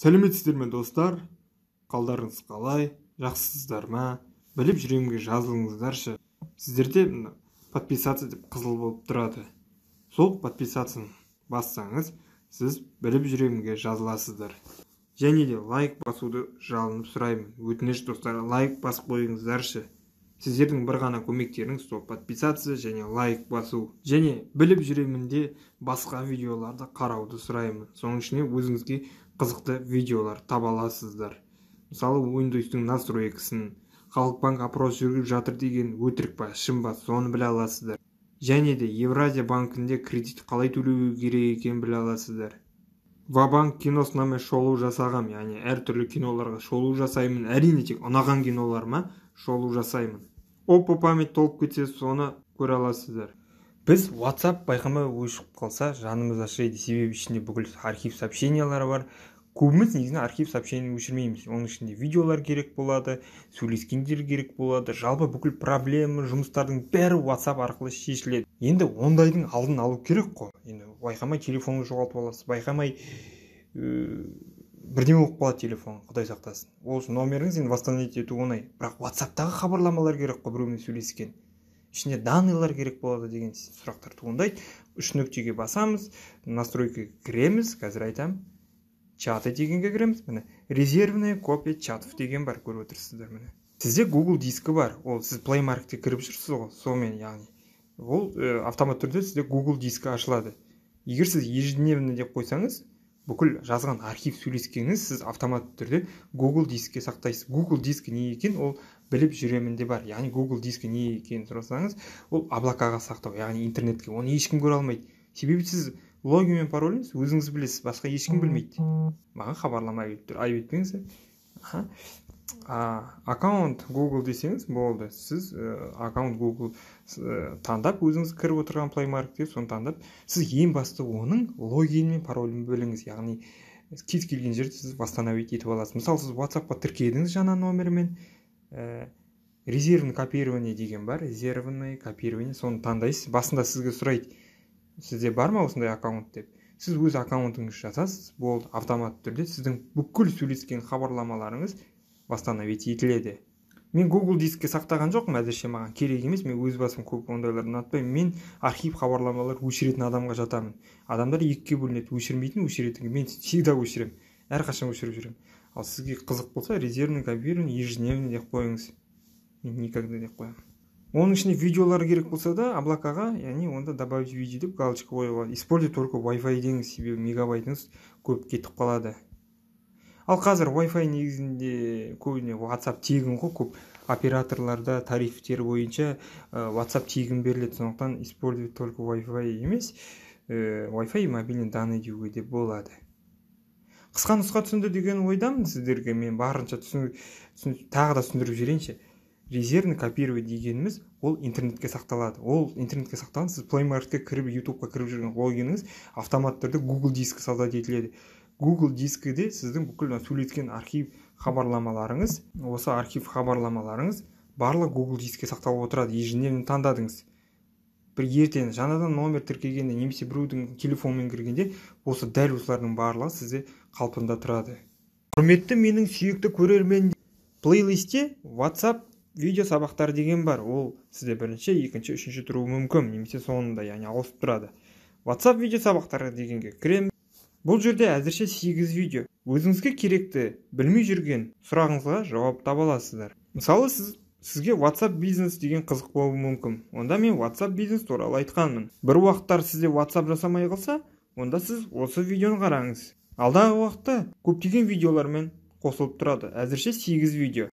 Сәлеметсіздер ме достар? Қалдарыңыз қалай? Жақсысыздар ма? Біліп жүремге жазылыңыздаршы. Сіздерде подписаться деп қызыл болып тұрады. Сол подписацияны бассаңыз, сіз біліп жүремге жазыласыздар. Және де лайк басуды жалынып сұраймын. Өтініш достар, лайк басып қойыңыздаршы. Сіздердің бір ғана көмектеріңіз сол подписация және лайк басу. Және біліп жүремінде басқа видеоларды қарауды сұраймын. Соның ішіне өзіңізге қызықты видеолар таба аласыздар. Мысалы, Windows-тың настройкасын, Халықбанк опрос жүргізіп жатыр деген өтірік па, шын ба, соны біле аласыздар. Және де Евразия банкінде кредит қалай төлеу керек екенін біле аласыздар. Ва-банк киносына мен шолу жасағам, яғни әртүрлі киноларға шолу жасаймын. Әрине тек ұнаған киноларыма шолу жасаймын. Опа память толып кетсе, соны көре аласыздар. Біз WhatsApp байқамай өшіп қалса, жанымыз ашиды. Себебі ішінде бүкіл архив сообщениялары бар. Көбіміз негізінен архив сообщение өшірмейміз. Оның ішінде видеолар керек болады, сөйлескендер керек болады. Жалпы бүкіл проблема, жұмыстардың бәрі WhatsApp арқылы шешіледі. Енді ондайдың алдын алу керек қой. Енді байқамай телефонды жоғалтып аласыз, байқамай бірдеңе болып қалады телефон, құдай сақтасын. Осы номеріңіз енді восстановить ету оңай. Бірақ WhatsApp-тағы хабарламалар керек қой, біреумен сөйлескен. Ішінде данныйлар керек болады деген сұрақтар туындайды. 3 нүктеге басамыз, настройка кіреміз, қазір айтам. Чаты дегенге кіреміз. Міне, резервная копия чатов деген бар, көріп отырсыздар міне. Сізде Google дискі бар. Ол сіз Play Market'те кіріп жүрсіз ғой, сонымен яғни. Ол автомат түрде сізде Google дискі ашылады. Егер сіз ежедневно деп қойсаңыз, бүкіл жазған архив сөйлескеніңіз сіз автомат түрде Google дискке сақтайсыз. Google дискі не екен, ол біліп жүремін де бар. Яғни Google дискі не екен сұрасаңыз, ол облакаға сақтау, яғни интернетке. Оны ешкім көре алмайды. Себебі сіз логин мен пароліңіз өзіңіз білесіз, басқа ешкім білмейді. Маған хабарлама айып етпеңіздер. Аккаунт Google десеңіз болды. Сіз аккаунт Google таңдап, өзіңіз кіріп отырған Play Market'те соны таңдап, сіз ең басты оның логин мен паролін біліңіз. Яғни кез келген жерде сіз восстановить етіп аласыз. Мысалы, сіз WhatsApp-қа тіркедіңіз жаңа номермен, резервный копирование деген бар, резервный копирование, соны таңдайсыз. Басында сізге сұрайды, сізде бар ма осындай аккаунт деп. Сіз өз аккаунтыңыз жасасыз, болды, автомат түрде сіздің бүкіл сөйлескен хабарламаларыңыз восстановить етіледі. Мен Google дискке сақтаған жоқпын, әзірше маған керек емес, мен өз басым көп ондайларды ұнатпаймын. Мен архив хабарламалар өшіретін адамға жатамын. Адамдар екіге бөлінеді, өшірмейтін, өшіретін. Мен всегда өшіремін, әрқашан өшіріп жүремін. Ал сізге қызық болса, резервный копирование ежедневный деп қойыңыз. Мен никогда деп қоямын. Оның ішінде видеолар керек болса да, облакаға, яғни онда добавить видео деп галочка қоюға. Используй только Wi-Fi деңіз, себебі мегабайтыңыз көп кетіп қалады. Ал қазір Wi-Fi негізінде көбіне WhatsApp тегін ғой, көп операторларда тарифтер бойынша WhatsApp тегін беріледі. Сондықтан используй только Wi-Fi емес, Wi-Fi мобильный данный деуге де болады. Қысқа нұсқа түсінді деген ойдамын сіздерге. Мен барынша тағы да түсіндіріп жіберейінші. Резервный копирование дегеніміз ол интернетке сақталады. Ол интернетке сақталған, сіз Play Market'ке кіріп, YouTube-қа кіріп жүрген логиніңіз автомат түрде Google дискі создать етіледі. Google дискіде сіздің бүкіл сөйлескен архив хабарламаларыңыз, осы архив хабарламаларыңыз барлық Google дискке сақталып отырады. Ежедневно таңдадыңыз. Бір ертең жаңадан номер тіркегенде немесе біреудің телефонмен кіргенде, осы дәл осылардың барлығы сізде қалпында тұрады. Құрметті менің сүйікті көрермен, плейлистте WhatsApp видео сабақтар деген бар. Ол сізде бірінші, екінші, үшінші тұруы мүмкін, немесе соңында, яғни ауысып тұрады. WhatsApp видео сабақтары дегенге кіреміз. Бұл жерде әзірше 8 видео. Өзіңізге керекті, білмей жүрген сұрағыңызға жауап таба аласыздар. Мысалы, сізге WhatsApp бизнес деген қызық болуы мүмкін. Онда мен WhatsApp бизнес туралы айтқанмын. Бір уақыттар сізде WhatsApp жасамай қалса, онда сіз осы видеоны қараңыз. Алдағы уақытта көптеген видеолармен қосылып тұрады. Әзірше 8 видео.